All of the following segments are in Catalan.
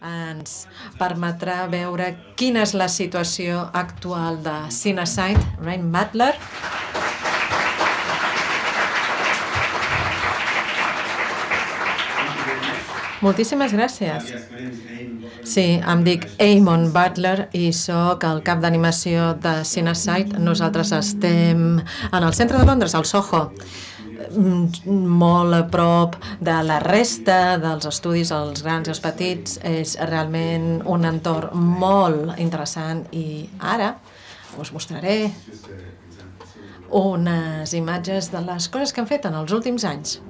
ens permetrà veure quina és la situació actual de Cinesite. Ryan Butler. Moltíssimes gràcies. Sí, em dic Eamon Butler i sóc el cap d'animació de Cinesite. Nosaltres estem en el centre de Londres, al Soho, molt a prop de la resta dels estudis, els grans i els petits. És realment un entorn molt interessant i ara us mostraré unes imatges de les coses que han fet en els últims anys.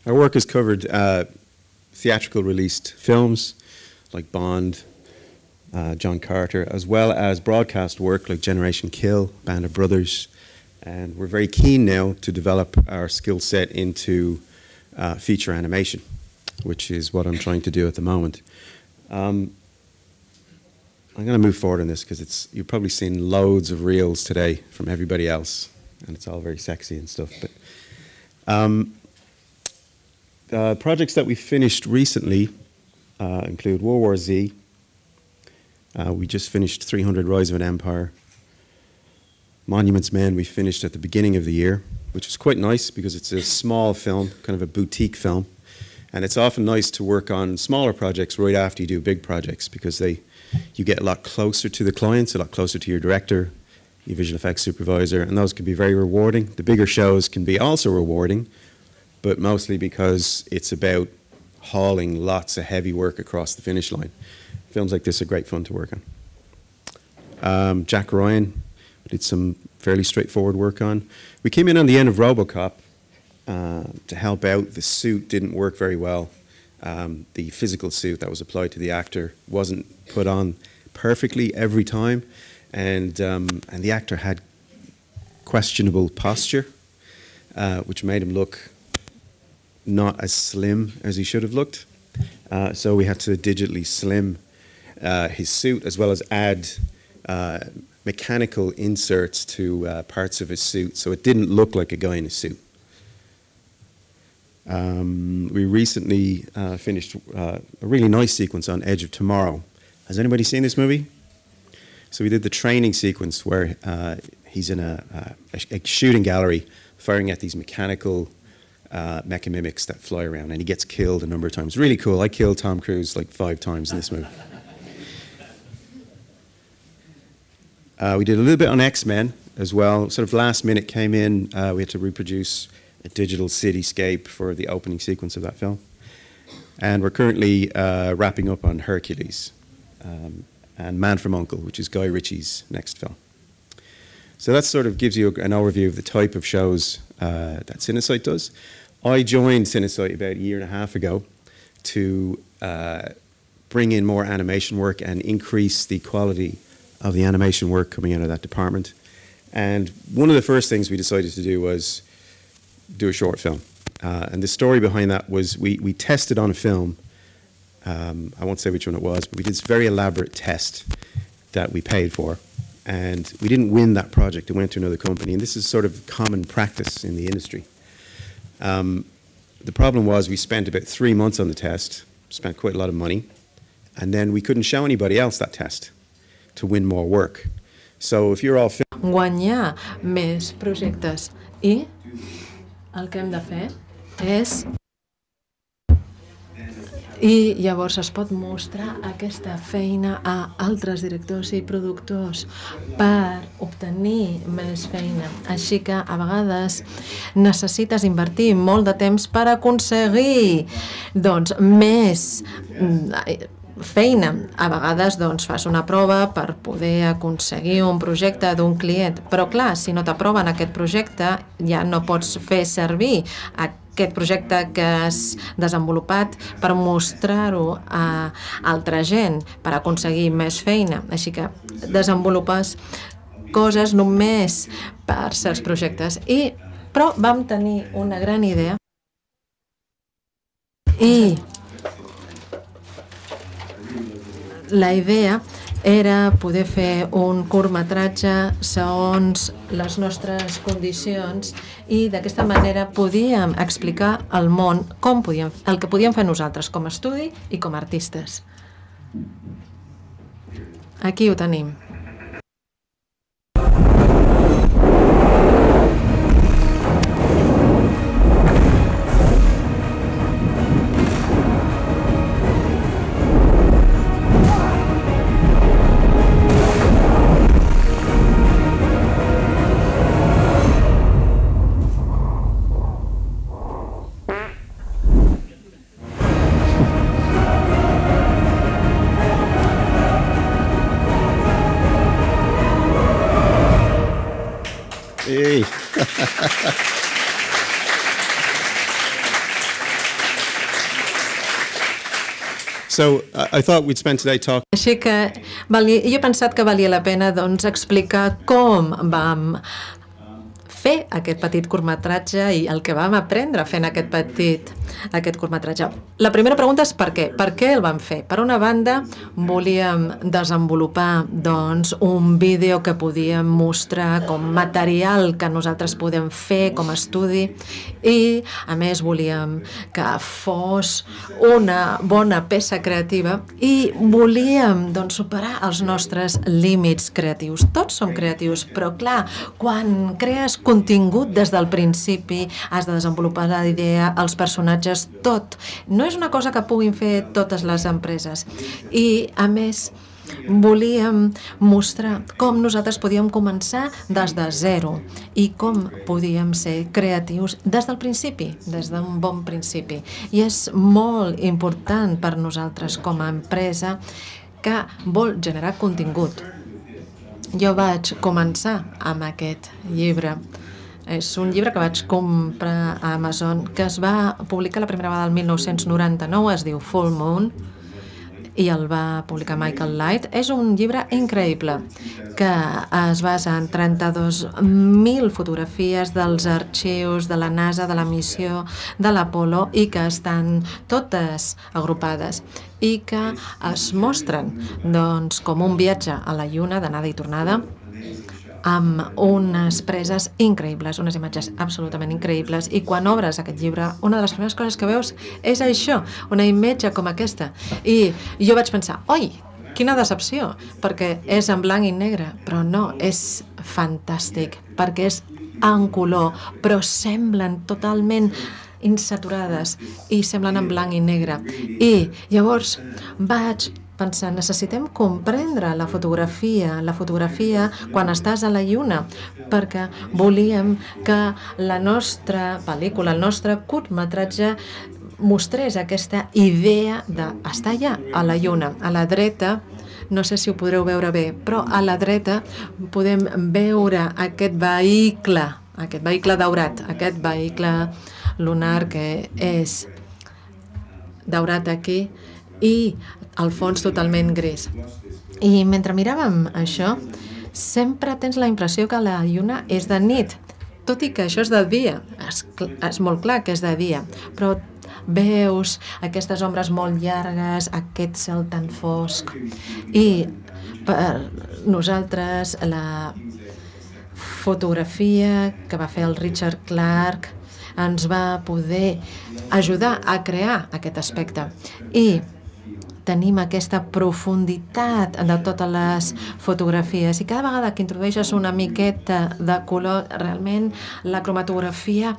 Our work has covered theatrical released films like Bond, John Carter, as well as broadcast work like Generation Kill, Band of Brothers, and we're very keen now to develop our skill set into feature animation, which is what I'm trying to do at the moment. I'm going to move forward on this because you've probably seen loads of reels today from everybody else, and it's all very sexy and stuff. But projects that we finished recently include World War Z. We just finished 300 Rise of an Empire. Monuments Men we finished at the beginning of the year, which was quite nice because it's a small film, kind of a boutique film. And it's often nice to work on smaller projects right after you do big projects because you get a lot closer to the clients, a lot closer to your director, your visual effects supervisor, and those can be very rewarding. The bigger shows can be also rewarding, but mostly because it's about hauling lots of heavy work across the finish line. Films like this are great fun to work on. Jack Ryan did some fairly straightforward work on. We came in on the end of RoboCop to help out. The suit didn't work very well. The physical suit that was applied to the actor wasn't put on perfectly every time, and the actor had questionable posture, which made him look not as slim as he should have looked. So we had to digitally slim his suit as well as add mechanical inserts to parts of his suit so it didn't look like a guy in a suit. We recently finished a really nice sequence on Edge of Tomorrow. Has anybody seen this movie? So we did the training sequence where he's in a shooting gallery firing at these mechanical mecha mimics that fly around, and he gets killed a number of times. Really cool. I killed Tom Cruise like 5 times in this movie. We did a little bit on X-Men as well. Sort of last minute came in. We had to reproduce a digital cityscape for the opening sequence of that film. And we're currently wrapping up on Hercules and Man from U.N.C.L.E., which is Guy Ritchie's next film. So that sort of gives you an overview of the type of shows that Cinesite does. I joined Cinesite about 1.5 years ago to bring in more animation work and increase the quality of the animation work coming out of that department. And one of the first things we decided to do was do a short film. And the story behind that was we tested on a film. I won't say which one it was, but we did this very elaborate test that we paid for. And we didn't win that project. It went to another company. And this is sort of common practice in the industry. The problem was we spent about 3 months on the test, spent quite a lot of money, and then we couldn't show anybody else that test to win more work. So if you're all guanyar més projectes i el que hem de fer és i llavors es pot mostrar aquesta feina a altres directors i productors per obtenir més feina. Així que a vegades necessites invertir molt de temps per aconseguir més feina. A vegades fas una prova per poder aconseguir un projecte d'un client, però clar, si no t'aproven aquest projecte ja no pots fer servir aquest projecte que has desenvolupat per mostrar-ho a altra gent, per aconseguir més feina. Així que desenvolupes coses només per certs projectes. Però vam tenir una gran idea i la idea era poder fer un curtmetratge segons les nostres condicions i d'aquesta manera podíem explicar al món el que podíem fer nosaltres com a estudi i com a artistes. Aquí ho tenim. Hey. So I thought we'd spend today talking. Així que jo he pensat que valia la pena explicar com vam fer aquest petit curtmetratge i el que vam aprendre fent aquest curtmetratge. La primera pregunta és per què? Per què el vam fer? Per una banda, volíem desenvolupar un vídeo que podíem mostrar com material que nosaltres podem fer com a estudi i, a més, volíem que fos una bona peça creativa i volíem superar els nostres límits creatius. Tots som creatius, però clar, quan crees contingut des del principi, has de desenvolupar la idea, els personatges, tot. No és una cosa que puguin fer totes les empreses. I, a més, volíem mostrar com nosaltres podíem començar des de zero i com podíem ser creatius des del principi, des d'un bon principi. I és molt important per nosaltres com a empresa que vol generar contingut. Jo vaig començar amb aquest llibre. És un llibre que vaig comprar a Amazon, que es va publicar la primera vegada el 1999, es diu Full Moon, i el va publicar Michael Light. És un llibre increïble que es basa en 32.000 fotografies dels arxius de la NASA, de la missió de l'Apolo, i que estan totes agrupades i que es mostren com un viatge a la Lluna d'anada i tornada, amb unes preses increïbles, unes imatges absolutament increïbles, i quan obres aquest llibre, una de les primeres coses que veus és això, una imatge com aquesta. I jo vaig pensar, oi, quina decepció, perquè és en blanc i negre, però no, és fantàstic, perquè és en color, però semblen totalment insaturades i semblen en blanc i negre. I llavors vaig pensar, necessitem comprendre la fotografia quan estàs a la Lluna, perquè volíem que la nostra pel·lícula, el nostre curtmetratge, mostrés aquesta idea d'estar allà, a la Lluna. A la dreta, no sé si ho podreu veure bé, però a la dreta podem veure aquest vehicle daurat, aquest vehicle lunar que és daurat aquí i al fons totalment gris. I mentre miràvem això, sempre tens la impressió que la Lluna és de nit. tot i que això és de dia, és molt clar que és de dia, però veus aquestes ombres molt llargues, aquest cel tan fosc, i per nosaltres la fotografia que va fer el Richard Clark ens va poder ajudar a crear aquest aspecte. I tenim aquesta profunditat de totes les fotografies i cada vegada que introdueixes una miqueta de color, realment la cromatografia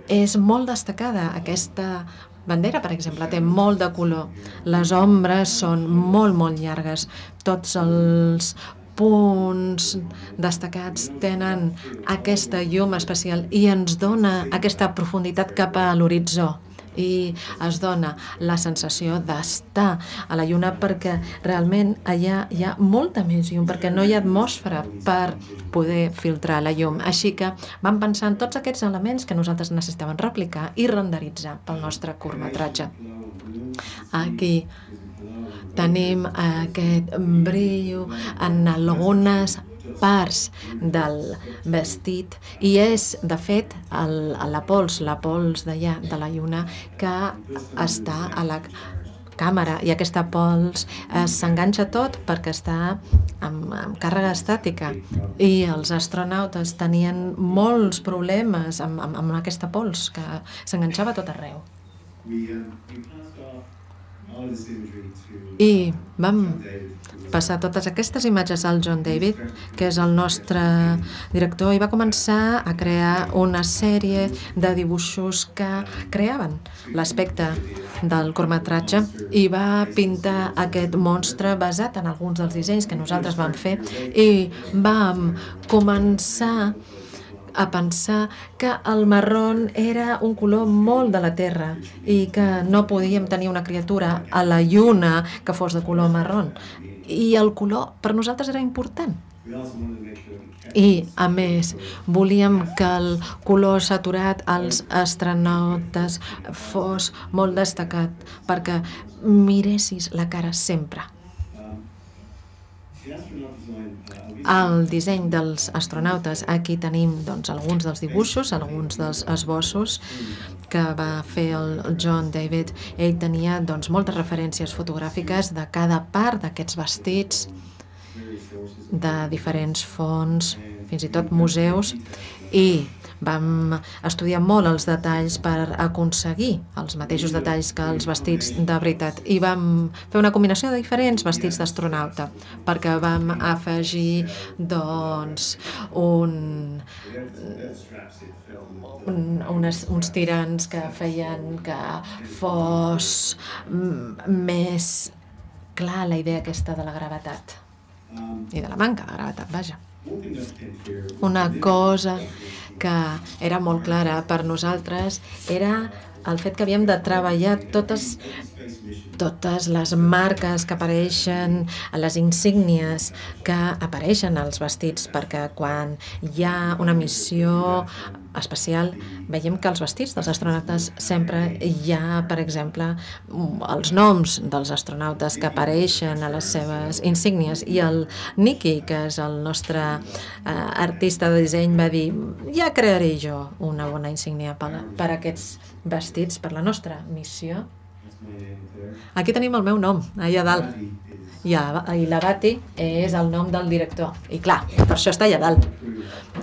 és molt destacada. Aquesta bandera, per exemple, té molt de color. Les ombres són molt, molt llargues. Tots els punts destacats tenen aquesta llum especial i ens dona aquesta profunditat cap a l'horitzó. I es dona la sensació d'estar a la lluna perquè realment allà hi ha molta més llum, perquè no hi ha atmosfera per poder filtrar la llum. Així que vam pensar en tots aquests elements que nosaltres necessitàvem replicar i renderitzar pel nostre curtmetratge. Aquí tenim aquest brillo en algunes parts del vestit i és, de fet, la pols d'allà, de la lluna, que està a la càmera i aquesta pols s'enganxa tot perquè està amb càrrega estàtica i els astronautes tenien molts problemes amb aquesta pols que s'enganxava a tot arreu. I vam passar totes aquestes imatges al John David, que és el nostre director, i va començar a crear una sèrie de dibuixos que creaven l'aspecte del curtmetratge i va pintar aquest monstre basat en alguns dels dissenys que nosaltres vam fer i vam començar a pensar que el marrón era un color molt de la Terra i que no podíem tenir una criatura a la lluna que fos de color marrón. I el color per nosaltres era important. I, a més, volíem que el color saturat als astronautes fos molt destacat perquè miressis la cara sempre. El disseny dels astronautes, aquí tenim doncs, alguns dels dibuixos, alguns dels esbossos que va fer el John David. Ell tenia doncs, moltes referències fotogràfiques de cada part d'aquests vestits, de diferents fonts, fins i tot museus, i vam estudiar molt els detalls per aconseguir els mateixos detalls que els vestits de veritat i vam fer una combinació de diferents vestits d'astronauta perquè vam afegir doncs uns tirants que feien que fos més clar la idea aquesta de la gravetat i de la manca de gravetat, vaja. Una cosa que era molt clara per nosaltres era el fet que havíem de treballar totes les marques que apareixen, les insígnies que apareixen als vestits, perquè quan hi ha una missió espacial veiem que als vestits dels astronautes sempre hi ha, per exemple, els noms dels astronautes que apareixen a les seves insígnies i el Nicky, que és el nostre artista de disseny, va dir ja crearé jo una bona insígnia per aquests vestits, per la nostra missió. Aquí tenim el meu nom, allà dalt. I la Bati és el nom del director. I clar, per això està allà dalt.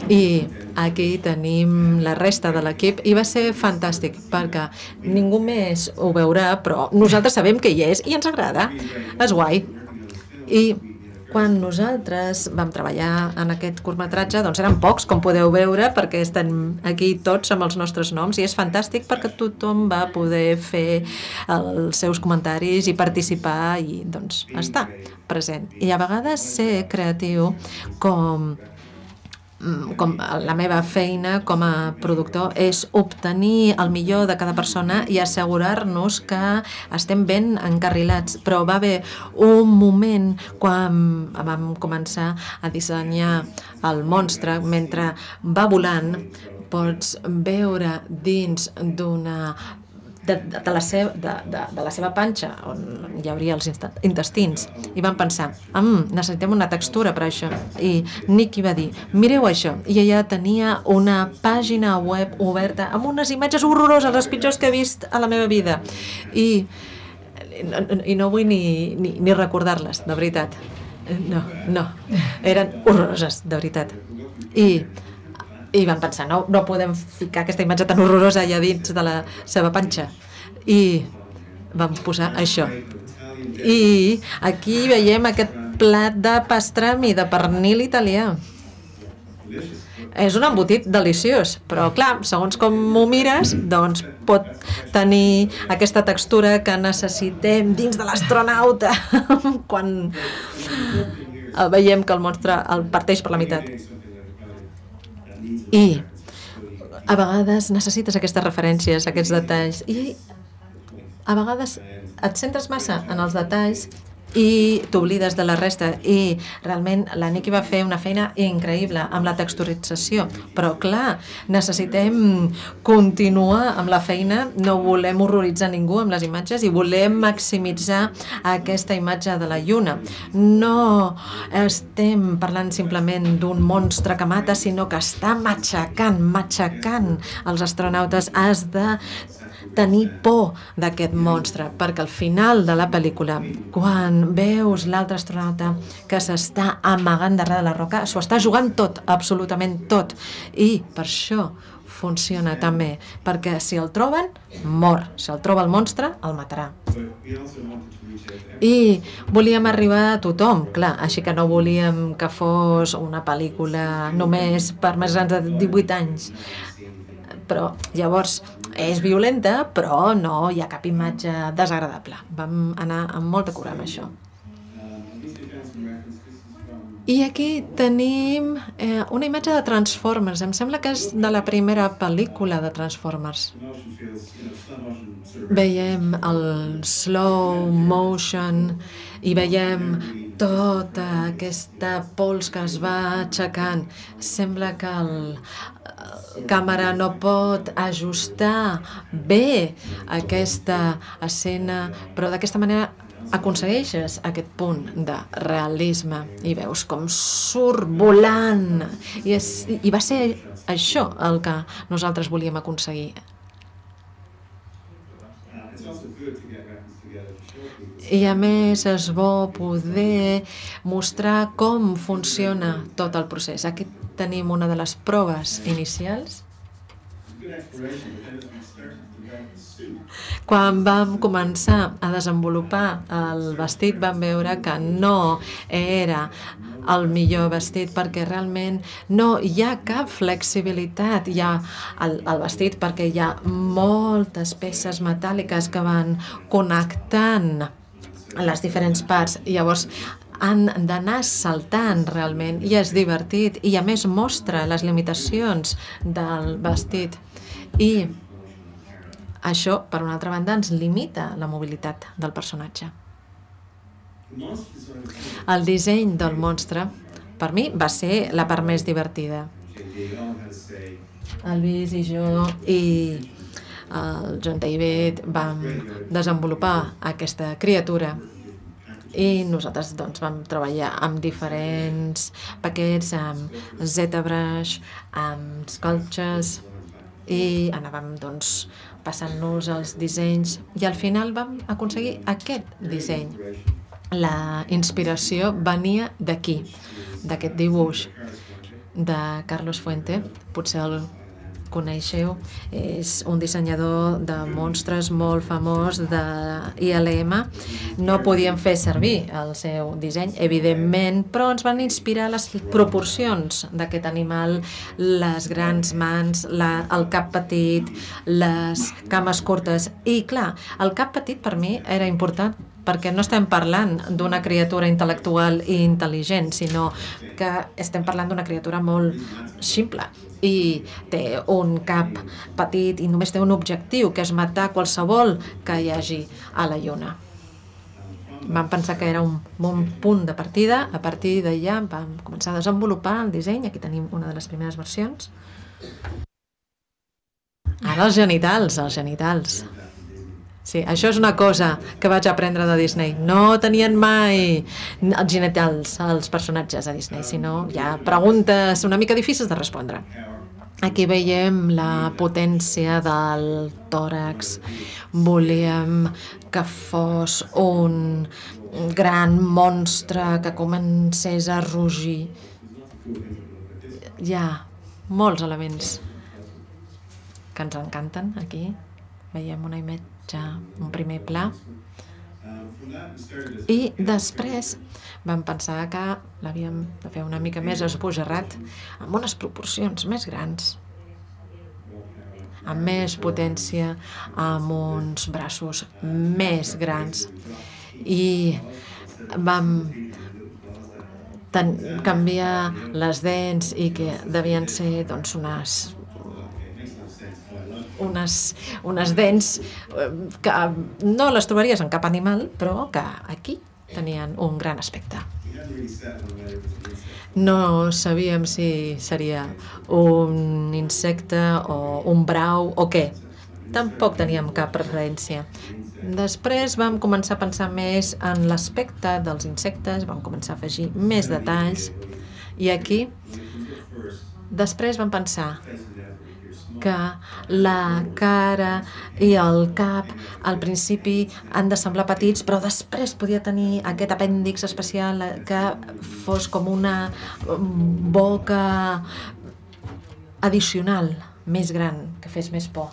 I aquí tenim la resta de l'equip i va ser fantàstic perquè ningú més ho veurà, però nosaltres sabem que hi és i ens agrada. És guai. I quan nosaltres vam treballar en aquest curtmetratge, doncs eren pocs, com podeu veure, perquè estem aquí tots amb els nostres noms i és fantàstic perquè tothom va poder fer els seus comentaris i participar i doncs estar present. I a vegades ser creatiu com la meva feina com a productor és obtenir el millor de cada persona i assegurar-nos que estem ben encarrilats. Però va haver un moment quan vam començar a dissenyar el monstre, mentre va volant pots veure dins d'una de la seva panxa, on hi hauria els intestins, i van pensar, necessitem una textura per això. I Nicky va dir, mireu això, i ella tenia una pàgina web oberta amb unes imatges horroroses, les pitjors que he vist a la meva vida. I no vull ni recordar-les, de veritat. No, eren horroroses, de veritat. I van pensar, no podem ficar aquesta imatge tan horrorosa allà dins de la seva panxa. I vam posar això. I aquí veiem aquest plat de pastrami de pernil italià. És un embotit deliciós, però clar, segons com m'ho mires, doncs pot tenir aquesta textura que necessitem dins de l'astronauta quan veiem que el monstre el parteix per la meitat. I a vegades necessites aquestes referències, aquests detalls, i a vegades et centres massa en els detalls i t'oblides de la resta. I realment la Nicky va fer una feina increïble amb la texturització, però clar, necessitem continuar amb la feina, no volem horroritzar ningú amb les imatges i volem maximitzar aquesta imatge de la lluna. No estem parlant simplement d'un monstre que mata, sinó que està matxacant els astronautes. Has de tenir por d'aquest monstre, perquè al final de la pel·lícula, quan veus l'altre astronauta que s'està amagant darrere de la roca, s'ho està jugant tot, absolutament tot, i per això funciona també, perquè si el troben, mor. Si el troba el monstre, el matarà. I volíem arribar a tothom, clar, així que no volíem que fos una pel·lícula només per més grans de 18 anys. Però llavors és violenta, però no hi ha cap imatge desagradable. Vam anar amb molta cura amb això. I aquí tenim una imatge de Transformers. Em sembla que és de la primera pel·lícula de Transformers. Veiem el slow motion i veiem tota aquesta pols que es va aixecant. Sembla que la càmera no pot ajustar bé aquesta escena, però d'aquesta manera aconsegueixes aquest punt de realisme i veus com surt volant. I va ser això el que nosaltres volíem aconseguir. I a més és bo poder mostrar com funciona tot el procés. Aquí tenim una de les proves inicials. Quan vam començar a desenvolupar el vestit vam veure que no era el millor vestit perquè realment no hi ha cap flexibilitat. Hi ha el vestit perquè hi ha moltes peces metàl·liques que van connectant les diferents parts. Llavors han d'anar saltant realment i és divertit i a més mostra les limitacions del vestit. I això, per una altra banda, ens limita la mobilitat del personatge. El disseny del monstre, per mi, va ser la part més divertida. El Luis i jo i el John David vam desenvolupar aquesta criatura i nosaltres doncs, vam treballar amb diferents paquets, amb ZBrush, amb Sculptures, i anàvem doncs, passant-nos els dissenys i al final vam aconseguir aquest disseny. La inspiració venia d'aquí, d'aquest dibuix de Carlos Fuente, potser el coneixeu, és un dissenyador de monstres molt famós de ILM. No podíem fer servir el seu disseny, evidentment, però ens van inspirar les proporcions d'aquest animal, les grans mans, el cap petit, les cames curtes. I clar, el cap petit per mi era important perquè no estem parlant d'una criatura intel·lectual i intel·ligent, sinó que estem parlant d'una criatura molt simple i té un cap petit i només té un objectiu, que és matar qualsevol que hi hagi a la Lluna. Vam pensar que era un bon punt de partida. A partir d'allà vam començar a desenvolupar el disseny. Aquí tenim una de les primeres versions. Ara els genitals. Sí, això és una cosa que vaig aprendre de Disney. No tenien mai els genitals, els personatges a Disney, sinó hi ha preguntes una mica difícils de respondre. Aquí veiem la potència del tòrax. Volíem que fos un gran monstre que comencés a rugir. Hi ha molts elements que ens encanten aquí. Veiem una imatge, un primer pla. I després vam pensar que l'havíem de fer una mica més esbojarrat, amb unes proporcions més grans, amb més potència, amb uns braços més grans. I vam canviar les dents i que devien ser doncs, unes dents que no les trobaries en cap animal, però que aquí tenien un gran aspecte. No sabíem si seria un insecte o un brau o què. Tampoc teníem cap referència. Després vam començar a pensar més en l'aspecte dels insectes, vam començar a afegir més detalls i aquí després vam pensar que la cara i el cap al principi han de semblar petits, però després podia tenir aquest apèndix especial que fos com una boca addicional, més gran, que fes més por.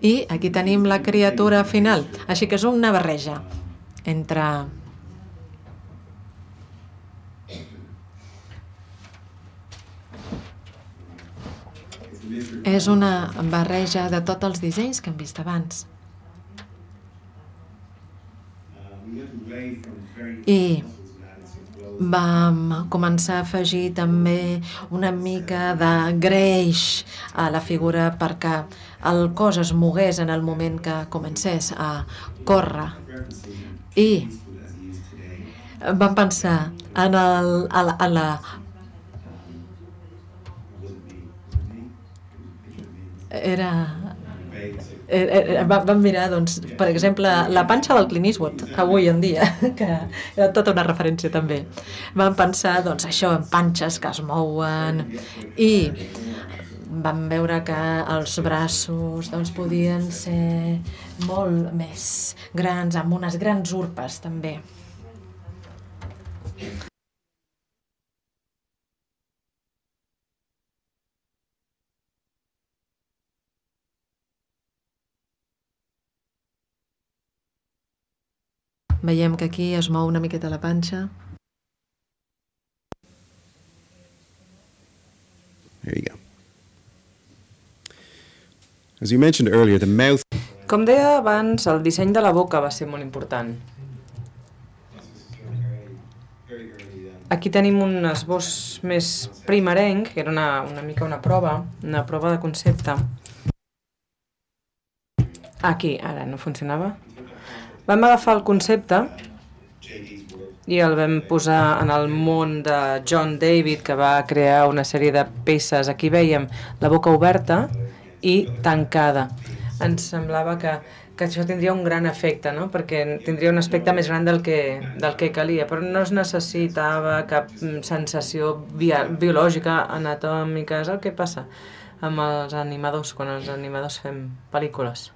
I aquí tenim la criatura final, així que és una barreja entre és una barreja de tots els dissenys que hem vist abans. I vam començar a afegir també una mica de greix a la figura perquè el cos es mogués en el moment que comencés a córrer. I vam pensar en la vam mirar, doncs, per exemple, la panxa del Clint Eastwood, avui en dia, que era tota una referència també. Vam pensar, doncs, això, en panxes que es mouen i vam veure que els braços doncs, podien ser molt més grans, amb unes grans urpes també. Veiem que aquí es mou una miqueta la panxa. There you go. As you mentioned earlier, the mouth. Com deia abans, el disseny de la boca va ser molt important. Aquí tenim un esbós més primerenc, que era una mica una prova de concepte. Aquí, ara no funcionava. Vam agafar el concepte i el vam posar en el món de John David, que va crear una sèrie de peces. Aquí veiem la boca oberta i tancada. Ens semblava que això tindria un gran efecte, no? Perquè tindria un aspecte més gran del que calia, però no es necessitava cap sensació biològica, anatòmica. És el que passa amb els animadors, quan els animadors fem pel·lícules.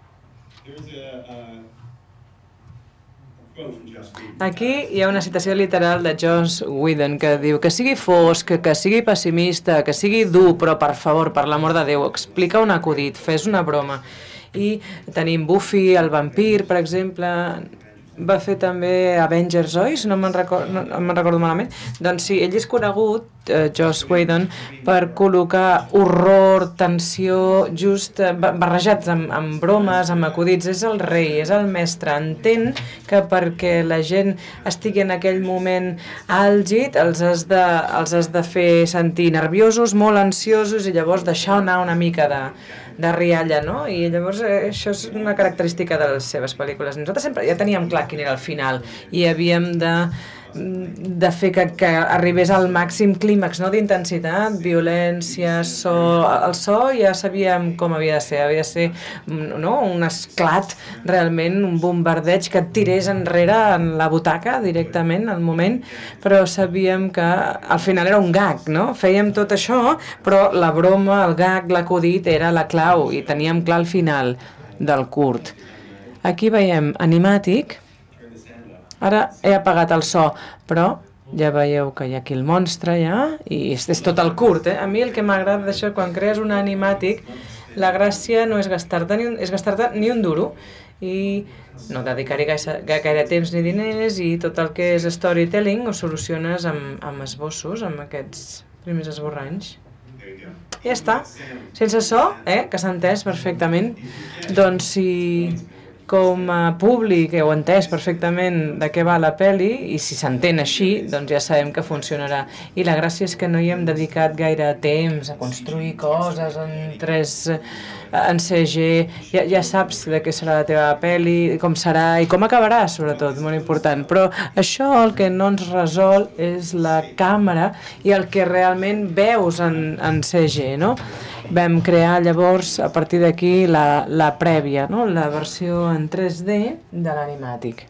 Aquí hi ha una citació literal de Joss Whedon que diu que sigui fosc, que sigui pessimista, que sigui dur, però per favor, per l'amor de Déu, explica un acudit, fes una broma. I tenim Buffy, el vampir, per exemple, va fer també Avengers, oi? Si no me'n recordo malament. Doncs sí, ell és conegut, Joss Whedon, per col·locar horror, tensió, just barrejats amb bromes, amb acudits. És el rei, és el mestre. Entén que perquè la gent estigui en aquell moment àlgid els has de fer sentir nerviosos, molt ansiosos, i llavors deixar anar una mica de rialla, no? I llavors això és una característica de les seves pel·lícules. Nosaltres sempre ja teníem clar quin era el final i havíem de de fer que arribés al màxim clímax, no? D'intensitat, violència, so... El so ja sabíem com havia de ser, no? Un esclat, realment, un bombardeig que et tirés enrere en la butaca directament al moment, però sabíem que al final era un gag, no? Fèiem tot això, però la broma, el gag, l'acudit era la clau i teníem clar el final del curt. Aquí veiem animàtic. Ara he apagat el so, però ja veieu que hi ha aquí el monstre ja, i és tot el curt, A mi el que m'agrada d'això, quan crees un animàtic, la gràcia no és gastar-te ni un duro, i no dedicar-hi gaire temps ni diners, i tot el que és storytelling ho soluciones amb esbossos, amb aquests primers esborranys. I ja està. Sense so, que s'ha entès perfectament, doncs si com a públic heu entès perfectament de què va la pel·li, i si s'entén així, doncs ja sabem que funcionarà. I la gràcia és que no hi hem dedicat gaire temps a construir coses en CG, ja saps de què serà la teva pel·li, com serà i com acabarà, sobretot, molt important. Però això el que no ens resol és la càmera i el que realment veus en CG, no? Vam crear llavors, a partir d'aquí, la prèvia, no? La versió en 3D de l'animàtic.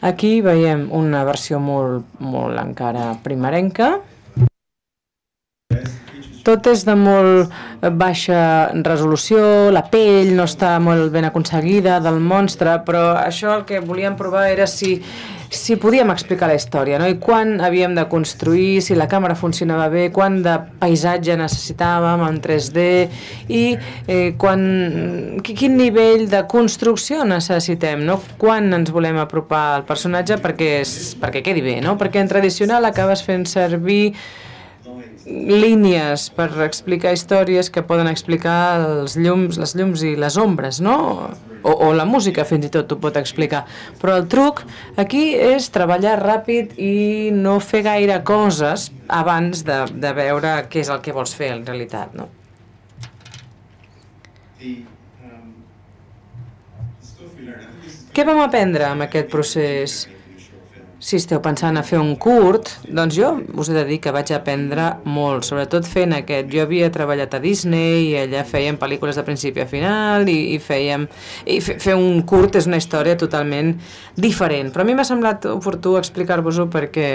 Aquí veiem una versió molt encara primerenca. Tot és de molt baixa resolució, la pell no està molt ben aconseguida del monstre, però això el que volíem provar era si podíem explicar la història, no? I quan havíem de construir, si la càmera funcionava bé, quant de paisatge necessitàvem en 3D i quin nivell de construcció necessitem, no? Quan ens volem apropar al personatge perquè quedi bé, no? Perquè en tradicional acabes fent servir línies per explicar històries que poden explicar les llums i les ombres, no? O la música fins i tot ho pot explicar. Però el truc aquí és treballar ràpid i no fer gaire coses abans de veure què és el que vols fer en realitat, no? Què vam aprendre amb aquest procés? Si esteu pensant a fer un curt, doncs jo us he de dir que vaig aprendre molt, sobretot fent aquest. Jo havia treballat a Disney i allà fèiem pel·lícules de principi a final i fer un curt és una història totalment diferent. Però a mi m'ha semblat oportú explicar-vos-ho perquè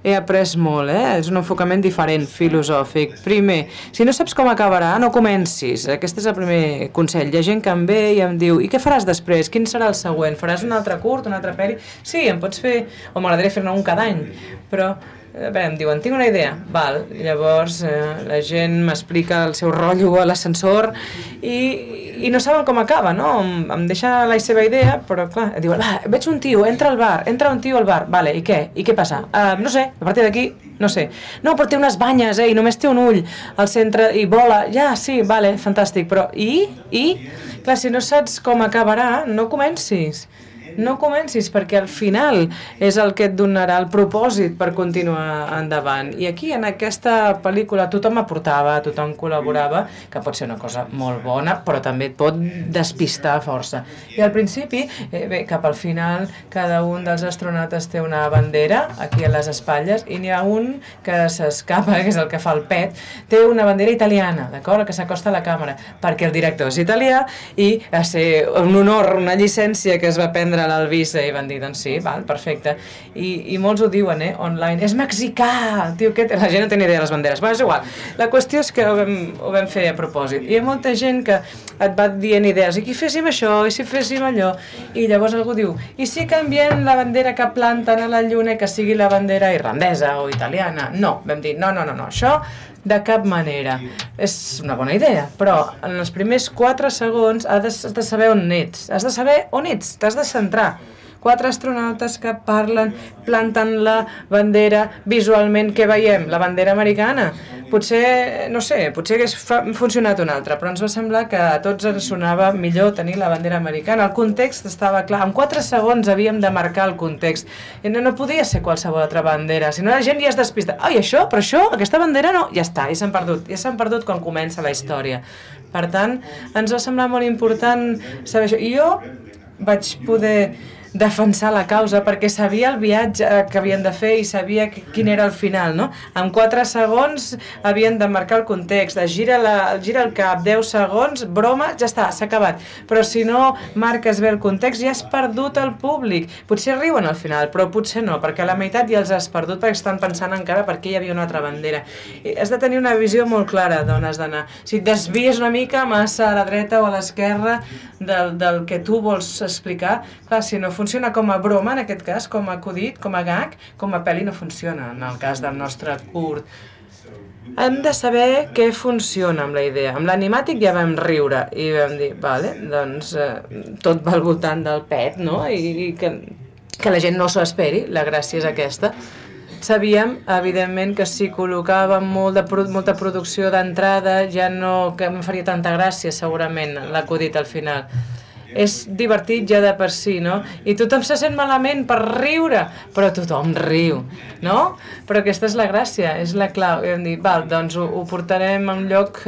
he après molt, és un enfocament diferent, filosòfic. Primer, si no saps com acabarà, no comencis. Aquest és el primer consell. Hi ha gent que em ve i em diu, i què faràs després? Quin serà el següent? Faràs un altre curt, una altra pel·li? Sí, em pots fer, o m'agradaria fer-ne un cada any, però em diuen, tinc una idea. Val, llavors la gent m'explica el seu rotllo a l'ascensor i no saben com acaba, no? Em deixa la seva idea, però clar, diuen, veig un tio, entra un tio al bar, vale, i què? I què passa? No sé, a partir d'aquí, no sé. No, però té unes banyes, i només té un ull al centre i vola, ja, sí, vale, fantàstic, però clar, si no saps com acabarà, no comencis. No comencis, perquè al final és el que et donarà el propòsit per continuar endavant. I aquí, en aquesta pel·lícula, tothom aportava, tothom col·laborava, que pot ser una cosa molt bona, però també et pot despistar força. I al principi, cap al final, cada un dels astronautes té una bandera aquí a les espatlles, i n'hi ha un que s'escapa, que és el que fa el pet, té una bandera italiana, d'acord?, que s'acosta a la càmera, perquè el director és italià i va ser un honor, una llicència que es va prendre a l'Alvisa i van dir, doncs sí, val, perfecte. I molts ho diuen, online, és mexicà, tio, la gent no té ni idea de les banderes. Bé, és igual. La qüestió és que ho vam fer a propòsit. I hi ha molta gent que et va dient idees, i si féssim això, i si féssim allò, i llavors algú diu, i si canviem la bandera que planten a la lluna que sigui la bandera irlandesa o italiana? No, vam dir, no, això de cap manera. És una bona idea, però en els primers 4 segons has de saber on ets. Has de saber on ets, t'has de centrar. 4 astronautes que parlen, planten la bandera, visualment què veiem? La bandera americana. Potser, no sé, potser hagués funcionat una altra, però ens va semblar que a tots ens sonava millor tenir la bandera americana. El context estava clar. En 4 segons havíem de marcar el context. I no podia ser qualsevol altra bandera, si no la gent ja es despista. Ai, això? Però això? Aquesta bandera no? Ja està, ja s'han perdut. Ja s'han perdut quan comença la història. Per tant, ens va semblar molt important saber això. I jo vaig poder defensar la causa, perquè sabia el viatge que havien de fer i sabia quin era el final, no? En 4 segons havien de marcar el context, gira el cap, 10 segons, broma, ja està, s'ha acabat. Però si no marques bé el context ja has perdut el públic. Potser riuen al final, però potser no, perquè a la meitat ja els has perdut perquè estan pensant encara perquè hi havia una altra bandera. I has de tenir una visió molt clara d'on has d'anar. Si et desvies una mica massa a la dreta o a l'esquerra del que tu vols explicar, clar, si no funciona com a broma, en aquest cas, com a acudit, com a gag, com a pel·li no funciona, en el cas del nostre curt. Hem de saber què funciona amb la idea. Amb l'animàtic ja vam riure i vam dir, vale, doncs tot va al voltant del pet, no? I que la gent no s'ho esperi, la gràcia és aquesta. Sabíem, evidentment, que si col·locàvem molta producció d'entrada ja no que em faria tanta gràcia, segurament, l'acudit al final. És divertit ja de per si, no? I tothom se sent malament per riure, però tothom riu, no? Però aquesta és la gràcia, és la clau. I vam dir, val, doncs ho portarem a un lloc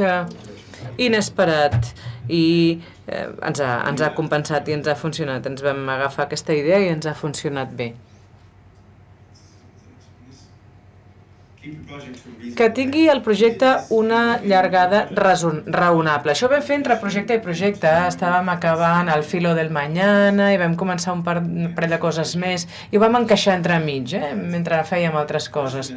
inesperat i ens ha compensat i ens ha funcionat. Ens vam agafar aquesta idea i ens ha funcionat bé. Que tingui el projecte una llargada raonable. Això ho vam fer entre projecte i projecte. Estàvem acabant el filo del mañana i vam començar un parell de coses més i ho vam encaixar entremig, mentre fèiem altres coses.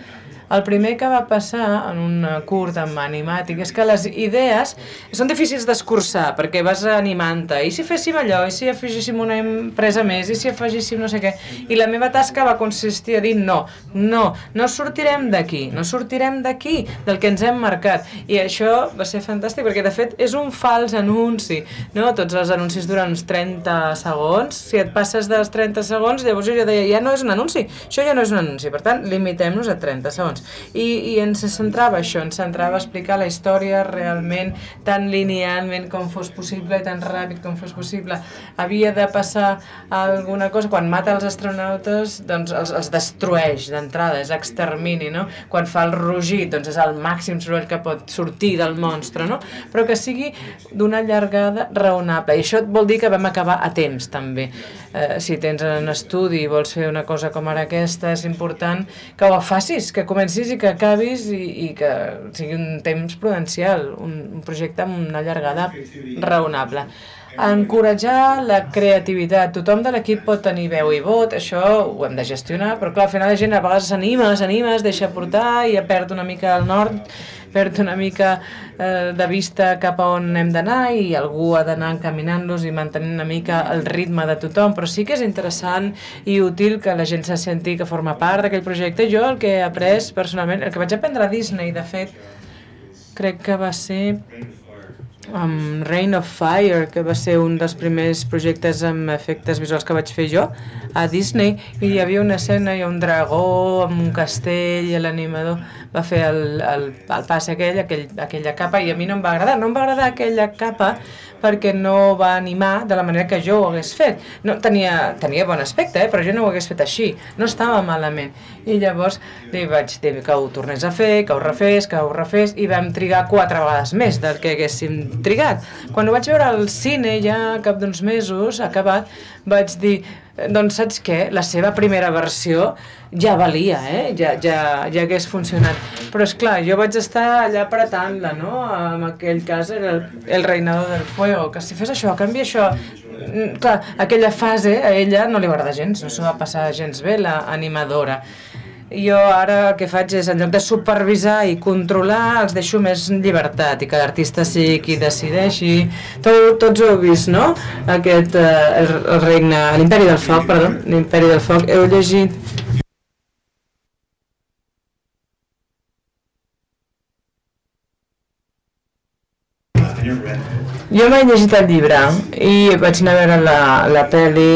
El primer que va passar en un curt amb animàtic és que les idees són difícils d'escurçar perquè vas animant-te. I si féssim allò, i si afegíssim una empresa més, i si afegíssim no sé què. I la meva tasca va consistir a dir no sortirem d'aquí, del que ens hem marcat. I això va ser fantàstic perquè de fet és un fals anunci, no? Tots els anuncis duren uns 30 segons. Si et passes dels 30 segons, llavors jo deia, ja no és un anunci, això ja no és un anunci, per tant, limitem-nos a 30 segons. I ens centrava això, ens centrava a explicar la història realment tan linealment com fos possible i tan ràpid com fos possible. Havia de passar alguna cosa, quan mata els astronautes doncs els destrueix d'entrada, és extermini, no? Quan fa el rugit doncs és el màxim soroll que pot sortir del monstre, no? Però que sigui d'una llargada raonable, i això vol dir que vam acabar a temps també. Si tens un estudi i vols fer una cosa com ara aquesta, és important que ho facis, que comencis i que acabis i que sigui un temps prudencial, un projecte amb una llargada raonable. Encoratjar la creativitat. Tothom de l'equip pot tenir veu i vot, això ho hem de gestionar, però clar, al final la gent a vegades s'anima, es deixa portar i perd una mica el nord, perd una mica de vista cap a on hem d'anar i algú ha d'anar encaminant-los i mantenint una mica el ritme de tothom, però sí que és interessant i útil que la gent se senti que forma part d'aquell projecte. Jo el que he après personalment, el que vaig aprendre a Disney, de fet, crec que va ser Reign of Fire, que va ser un dels primers projectes amb efectes visuals que vaig fer jo a Disney, i hi havia una escena, hi ha un dragó amb un castell i l'animador va fer el pas aquella capa, i a mi no em va agradar aquella capa perquè no va animar de la manera que jo ho hagués fet. No, tenia bon aspecte, però jo no ho hagués fet així, no estava malament. I llavors li vaig dir que ho tornés a fer, que ho refés, i vam trigar 4 vegades més del que haguéssim trigat. Quan ho vaig veure al cine, ja cap d'uns mesos, acabat, vaig dir, doncs saps què? La seva primera versió ja valia, ja hagués funcionat. Però esclar, jo vaig estar allà apretant-la, no? En aquell cas era el reinado del fuego, que si fes això, canvia això. Clar, aquella fase a ella no li va agradar gens, no s'ho va passar gens bé, l'animadora. Jo ara el que faig és, en lloc de supervisar i controlar, els deixo més llibertat i que l'artista sigui qui decideixi. Tots ho heu vist, no? Aquest, el regne, l'Imperi del Foc, perdó, l'Imperi del Foc. Heu llegit? Jo m'he llegit el llibre i vaig anar a veure la pel·li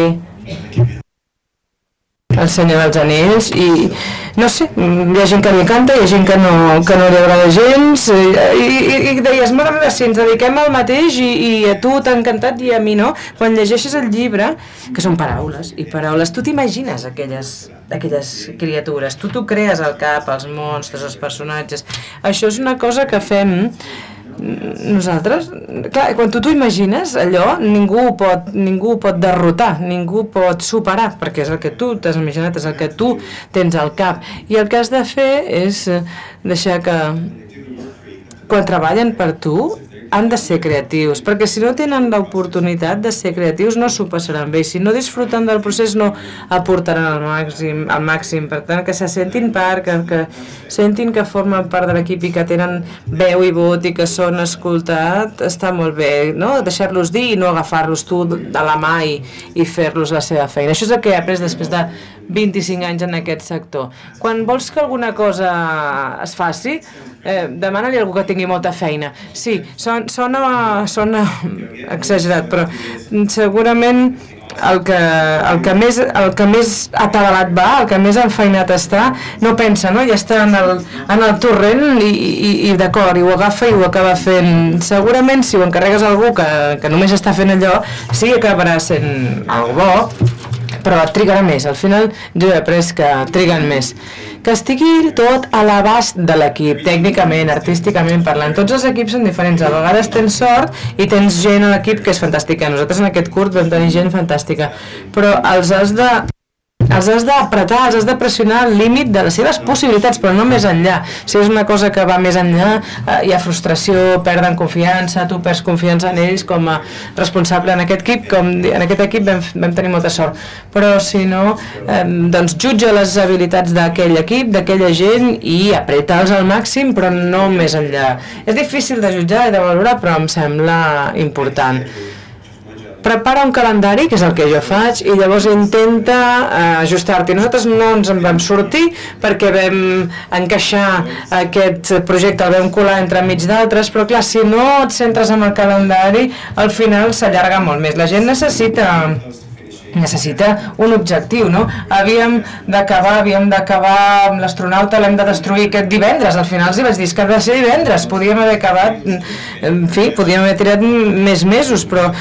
El Senyor dels Anells i no sé, hi ha gent que li encanta, hi ha gent que no li agrada gens i deies, mare meva, si ens dediquem al mateix i a tu t'ha encantat i a mi no, quan llegeixes el llibre, que són paraules i paraules, tu t'imagines aquelles criatures, tu t'ho crees al cap, els monstres, els personatges. Això és una cosa que fem nosaltres, clar, quan tu t'ho imagines, allò ningú ho pot derrotar, ningú pot superar, perquè és el que tu t'has imaginat, és el que tu tens al cap. I el que has de fer és deixar que quan treballen per tu han de ser creatius, perquè si no tenen l'oportunitat de ser creatius no s'ho passaran bé, si no disfruten del procés no aportaran al màxim, per tant que se sentin part, que sentin que formen part de l'equip i que tenen veu i vot i que són escoltats, està molt bé, no? Deixar-los dir i no agafar-los tu de la mà i fer-los la seva feina. Això és el que he après després de 25 anys en aquest sector. Quan vols que alguna cosa es faci, demana-li a algú que tingui molta feina. Sí, sona exagerat, però segurament el que més atabalat va, el que més enfeinat està, no pensa, no? Ja està en el torrent i d'acord, i ho agafa i ho acaba fent. Segurament si ho encarregues a algú que només està fent allò, sí que acabarà sent algo bo, però trigarà més. Al final jo he après que triguen més. Que estigui tot a l'abast de l'equip, tècnicament, artísticament parlant. Tots els equips són diferents. A vegades tens sort i tens gent a l'equip que és fantàstica. Nosaltres en aquest curt vam tenir gent fantàstica. Però els has d'apretar, els has de pressionar al límit de les seves possibilitats, però no més enllà. Si és una cosa que va més enllà, hi ha frustració, perden confiança, tu perds confiança en ells com a responsable en aquest equip, en aquest equip vam tenir molta sort. Però si no, doncs jutja les habilitats d'aquell equip, d'aquella gent i apreta-los al màxim, però no més enllà. És difícil de jutjar i de valorar, però em sembla important. Prepara un calendari, que és el que jo faig, i llavors intenta ajustar-t'hi. Nosaltres no ens en vam sortir perquè vam encaixar aquest projecte, el vam colar entre mig d'altres, però clar, si no et centres en el calendari, al final s'allarga molt més. La gent necessita un objectiu, no? Havíem d'acabar amb l'astronauta, l'hem de destruir aquest divendres. Al final els hi vaig dir que ha de ser divendres, podíem haver acabat, en fi, podíem haver tirat més mesos, però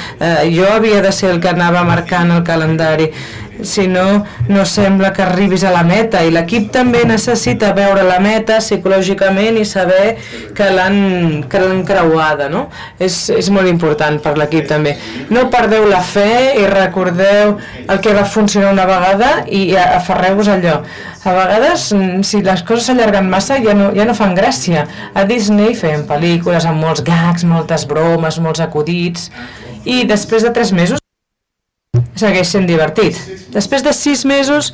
jo havia de ser el que anava marcant el calendari. Si no, no sembla que arribis a la meta, i l'equip també necessita veure la meta psicològicament i saber que l'han creuada, no? És molt important per l'equip també. No perdeu la fe i recordeu el que va funcionar una vegada i aferreu-vos a allò. A vegades, si les coses s'allarguen massa, ja no fan gràcia. A Disney feien pel·lícules amb molts gags, moltes bromes, molts acudits, i després de 3 mesos segueix sent divertit. Després de 6 mesos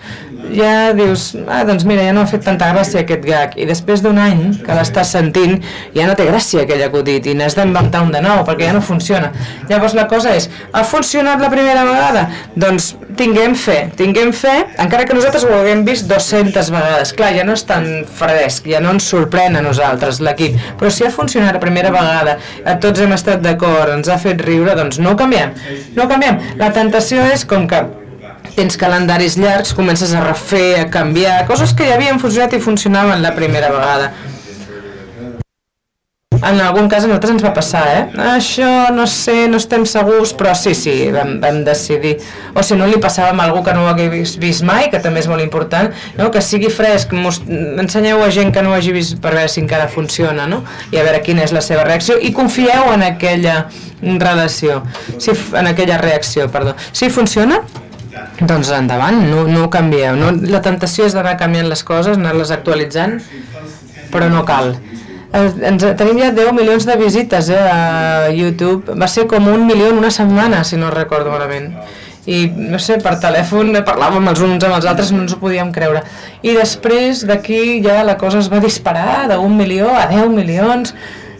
ja dius, doncs mira, ja no ha fet tanta gràcia aquest gag, i després d'un any que l'estàs sentint ja no té gràcia aquell acudit i n'has d'inventar un de nou perquè ja no funciona. Llavors la cosa és, ha funcionat la primera vegada? Doncs tinguem fe, encara que nosaltres ho haguem vist 200 vegades. Clar, ja no és tan fresc, ja no ens sorprèn a nosaltres l'equip, però si ha funcionat la primera vegada, tots hem estat d'acord, ens ha fet riure, doncs no ho canviem. La tentació és com que tens calendaris llargs, comences a refer, a canviar, coses que ja havien funcionat i funcionaven la primera vegada. En algun cas a nosaltres ens va passar, Això, no sé, no estem segurs, però sí, vam decidir. O si no, li passàvem a algú que no ho hagués vist mai, que també és molt important, no? Que sigui fresc, ensenyeu a gent que no ho hagi vist per veure si encara funciona, no? I a veure quina és la seva reacció, i confieu en aquella relació, en aquella reacció, perdó. Si funciona, doncs endavant, no ho canvieu. La tentació és d'anar canviant les coses, anar-les actualitzant, però no cal. Tenim ja 10 milions de visites a YouTube. Va ser com 1 milió en una setmana, si no recordo malament. I, no sé, per telèfon parlàvem els uns amb els altres, no ens ho podíem creure. I després d'aquí ja la cosa es va disparar de 1 milió a 10 milions.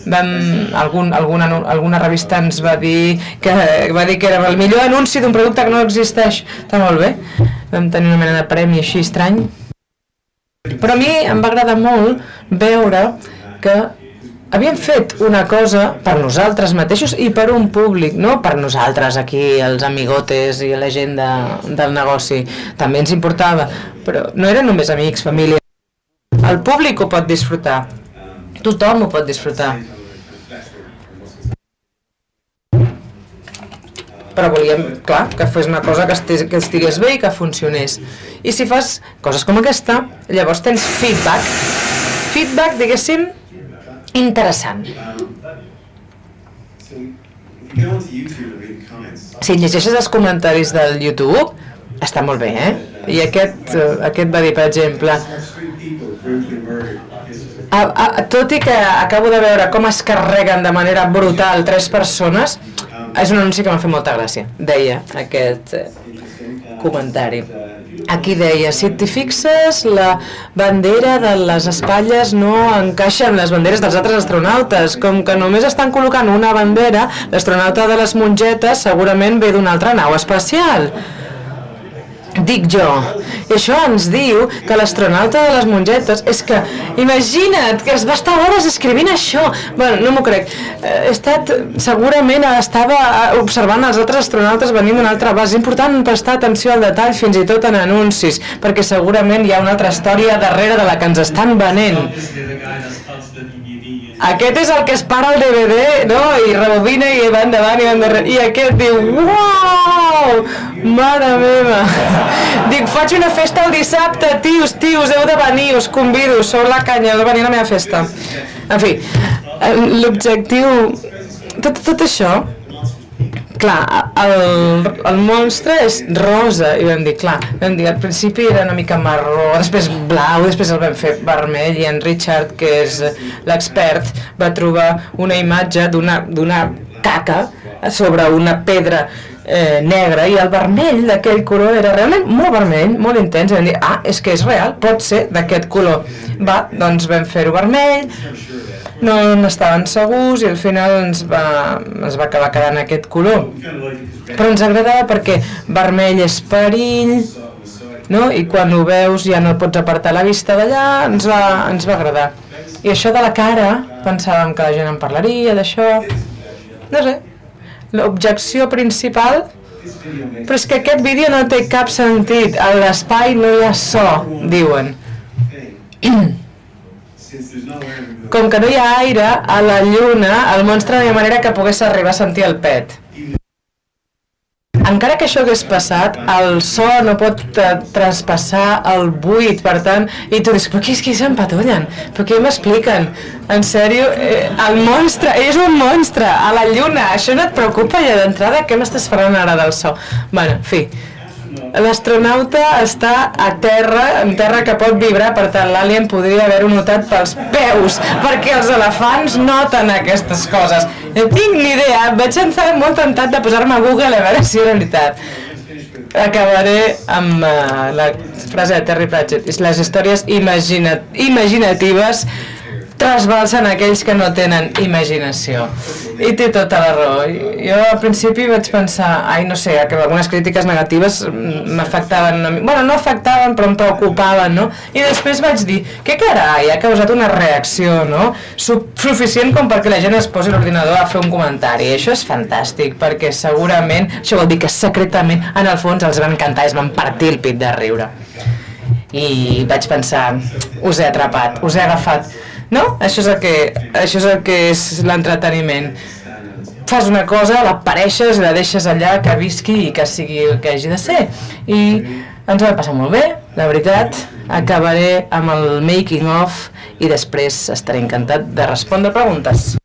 Alguna revista ens va dir que era el millor anunci d'un producte que no existeix. Està molt bé. Vam tenir una mena de premi així estrany. Però a mi em va agradar molt veure que havíem fet una cosa per nosaltres mateixos i per un públic, no per nosaltres aquí, els amigotes i la gent del negoci. També ens importava, però no eren només amics, família. El públic ho pot disfrutar. Tothom ho pot disfrutar. Però volíem, clar, que fos una cosa que estigués bé i que funcionés. I si fas coses com aquesta, llavors tens feedback, diguéssim, interessant. Si llegeixes els comentaris del YouTube, està molt bé, I aquest va dir, per exemple, tot i que acabo de veure com es carreguen de manera brutal 3 persones, és un anunci que m'ha fet molta gràcia, deia aquest comentari. Aquí deia, si t'hi fixes, la bandera de les espatlles no encaixa amb les banderes dels altres astronautes. Com que només estan col·locant una bandera, l'astronauta de les mongetes segurament ve d'una altra nau espacial. Dic jo. I això ens diu que l'astronauta de les mongetes... És que, imagina't, que es va estar hores escrivint això. Bueno, no m'ho crec. Segurament estava observant els altres astronautes venint d'una altra base. És important prestar atenció al detall, fins i tot en anuncis, perquè segurament hi ha una altra història darrere de la que ens estan venent. Aquest és el que es para el DVD, no? I rebobina i va endavant i va endarrere. I aquest diu, uau, mare meva. Dic, faig una festa el dissabte, tios, heu de venir, us convido, sou la canya, heu de venir a la meva festa. En fi, l'objectiu, tot això, clar, el monstre és rosa, i vam dir, clar, al principi era una mica marró, després blau, després el vam fer vermell, i en Richard, que és l'expert, va trobar una imatge d'una caca sobre una pedra negra, i el vermell d'aquell color era realment molt vermell, molt intens, i vam dir, és que és real, pot ser d'aquest color. Va, doncs vam fer-ho vermell, no n'estaven segurs i al final es va acabar quedant aquest color, però ens agradava perquè vermell és perill, no? I quan ho veus ja no pots apartar la vista d'allà, ens va agradar. I això de la cara, pensàvem que la gent en parlaria d'això, no sé, l'objecció principal, però és que aquest vídeo no té cap sentit, a l'espai no hi ha so, diuen. Com que no hi ha aire, a la lluna, el monstre no hi ha manera que pogués arribar a sentir el pet. Encara que això hagués passat, el so no pot traspassar el buit, per tant, i tu dius, però qui s'empatollen? Però què m'expliquen? En sèrio, el monstre, és un monstre, a la lluna, això no et preocupa ja d'entrada? Què m'estàs parlant ara del so? Bueno, en fi, l'astronauta està a terra, en terra que pot vibrar, per tant l'alien podria haver-ho notat pels peus, perquè els elefants noten aquestes coses. No tinc ni idea, vaig estar molt tentat de posar-me a Google a veure si era veritat. Acabaré amb la frase de Terry Pratchett, les històries imaginatives trasbalsen aquells que no tenen imaginació. I té tota la raó. Jo al principi vaig pensar, no sé, que algunes crítiques negatives m'afectaven una mica. Bueno, no afectaven, però em preocupaven, no? I després vaig dir, què carai, ha causat una reacció, no? Suficient com perquè la gent es posi a l'ordinador a fer un comentari. I això és fantàstic, perquè segurament, això vol dir que secretament, en el fons, els va encantar i es van partir el pit de riure. I vaig pensar, us he atrapat, us he agafat. No? Això és el que és l'entreteniment. Fas una cosa, la pareixes i la deixes allà, que visqui i que sigui el que hagi de ser. I ens ho va passar molt bé, la veritat. Acabaré amb el making of i després estaré encantat de respondre preguntes.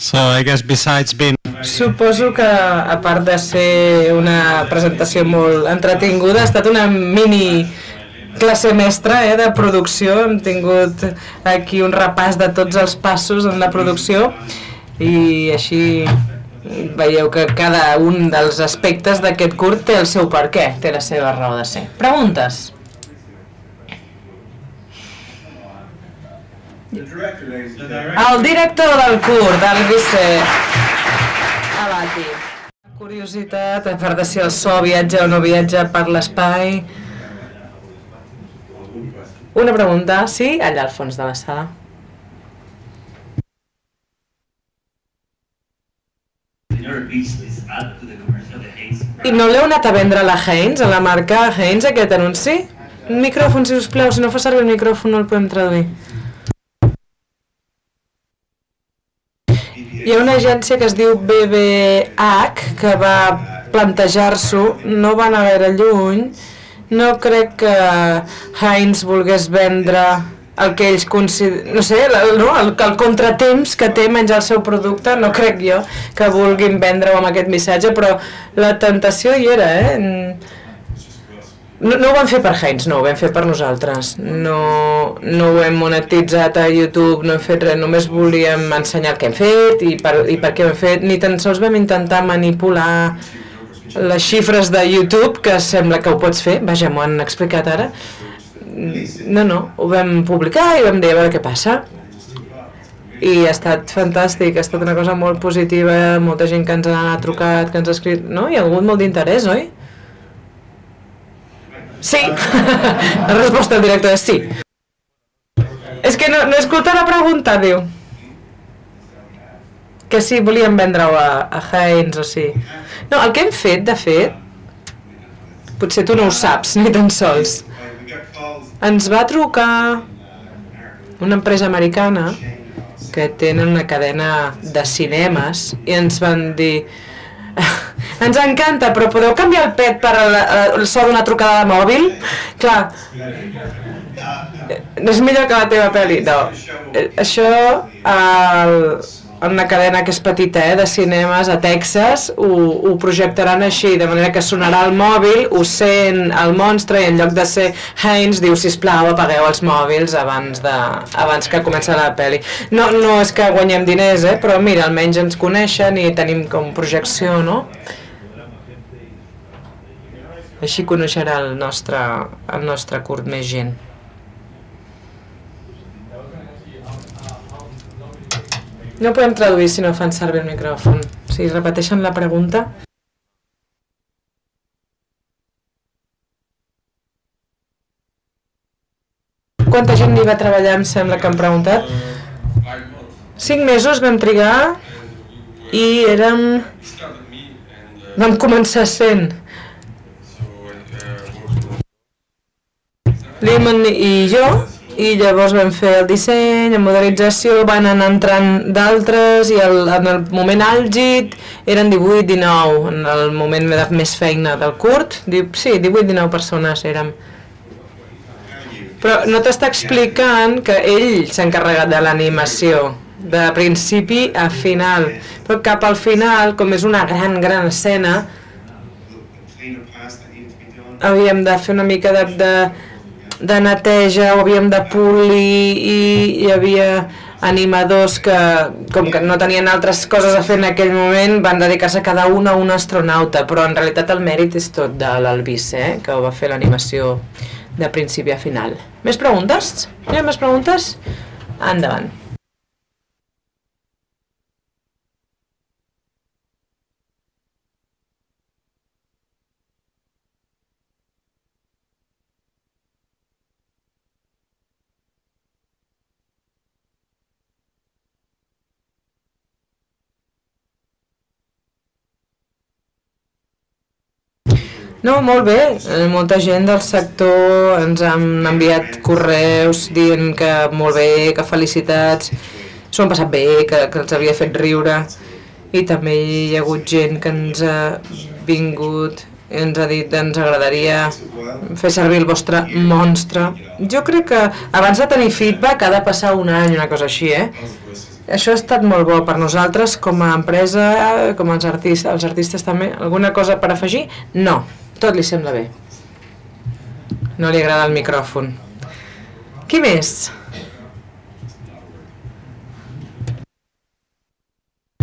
So I guess besides being... Suposo que, a part de ser una presentació molt entretinguda, ha estat una mini classe mestra de producció. Hem tingut aquí un repàs de tots els passos en la producció i així veieu que cada un dels aspectes d'aquest curt té el seu perquè, té la seva raó de ser. Preguntes? El director del curt, el vice Abati. Curiositat, a part de si el so viatja o no viatja per l'espai. Una pregunta, sí? Allà al fons de la sala. I no l'heu anat a vendre a la Heinz, a la marca Heinz, aquest anunci? Un micròfon, si us plau, si no fa servir el micròfon no el podem traduir. Hi ha una agència que es diu BBH que va plantejar-s'ho, no va anar gaire lluny. No crec que Heinz volgués vendre el que ells consideren, no sé, el contratemps que té menjar el seu producte, no crec jo que vulguin vendre-ho amb aquest missatge, però la tentació hi era, No ho vam fer per Heinz, no, ho vam fer per nosaltres. No ho hem monetitzat a YouTube, no hem fet res, només volíem ensenyar el que hem fet i per què ho hem fet. Ni tan sols vam intentar manipular les xifres de YouTube, que sembla que ho pots fer, vaja, m'ho han explicat ara. No, ho vam publicar i vam dir a veure què passa. I ha estat fantàstic, ha estat una cosa molt positiva, molta gent que ens ha trucat, que ens ha escrit, no? Hi ha hagut molt d'interès, oi? Sí, la resposta del director és sí. És que no he escoltat la pregunta, diu. Que sí, volíem vendre-ho a Heinz o sí. No, el que hem fet, de fet, potser tu no ho saps, ni tan sols. Ens va trucar una empresa americana que tenen una cadena de cinemes i ens van dir: ens encanta, però podeu canviar el pet per el so d'una trucada de mòbil? Clar, és millor que la teva pel·li. No, això en una cadena que és petita, de cinemes a Texas, ho projectaran així, de manera que sonarà el mòbil, ho sent el monstre i en lloc de ser Heinz diu: sisplau, apagueu els mòbils abans que comença la pel·li. No és que guanyem diners, però mira, almenys ens coneixen i tenim com projecció, no? Així coneixerà el nostre curt més gent. No podem traduir si no fan servir el micròfon. Si repeteixen la pregunta. Quanta gent hi va treballar, em sembla que han preguntat? 5 mesos vam trigar i vam començar sent Lehman i jo, i llavors vam fer el disseny, la modelització, van anar entrant d'altres i en el moment àlgid eren 18-19, en el moment de més feina del curt, sí, 18-19 persones érem. Però no t'està explicant que ell s'ha encarregat de l'animació, de principi a final, però cap al final, com és una gran escena, havíem de fer una mica de neteja, ho havíem de polir i hi havia animadors que, com que no tenien altres coses a fer en aquell moment, van dedicar-se cada un a un astronauta, però en realitat el mèrit és tot de l'Albice, que va fer l'animació de principi a final. Més preguntes? Hi ha més preguntes? Endavant. No, molt bé. Molta gent del sector ens han enviat correus dient que molt bé, que felicitats, s'ho han passat bé, que els havia fet riure. I també hi ha hagut gent que ens ha vingut i ens ha dit que ens agradaria fer servir el vostre monstre. Jo crec que abans de tenir feedback ha de passar un any, una cosa així, Això ha estat molt bo per nosaltres com a empresa, com els artistes també. Alguna cosa per afegir? No, tot li sembla bé. No li agrada el micròfon. Qui més?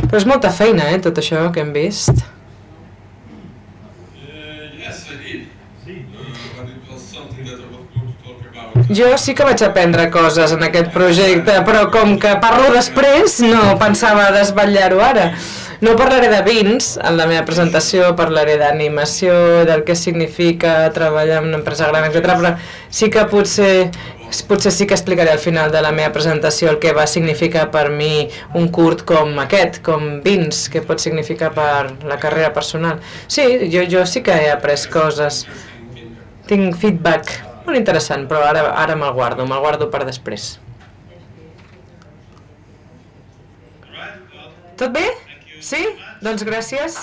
Però és molta feina, tot això que hem vist. Jo sí que vaig aprendre coses en aquest projecte, però com que parlo després, no pensava desvetllar-ho ara. No parlaré de vins en la meva presentació, parlaré d'animació, del que significa treballar en una empresa gran, etc. Però sí que potser sí que explicaré al final de la meva presentació el que va significar per mi un curt com aquest, com vins, que pot significar per la carrera personal. Sí, jo sí que he après coses. Tinc feedback molt interessant, però ara me'l guardo per després. Tot bé? Sí? Doncs gràcies.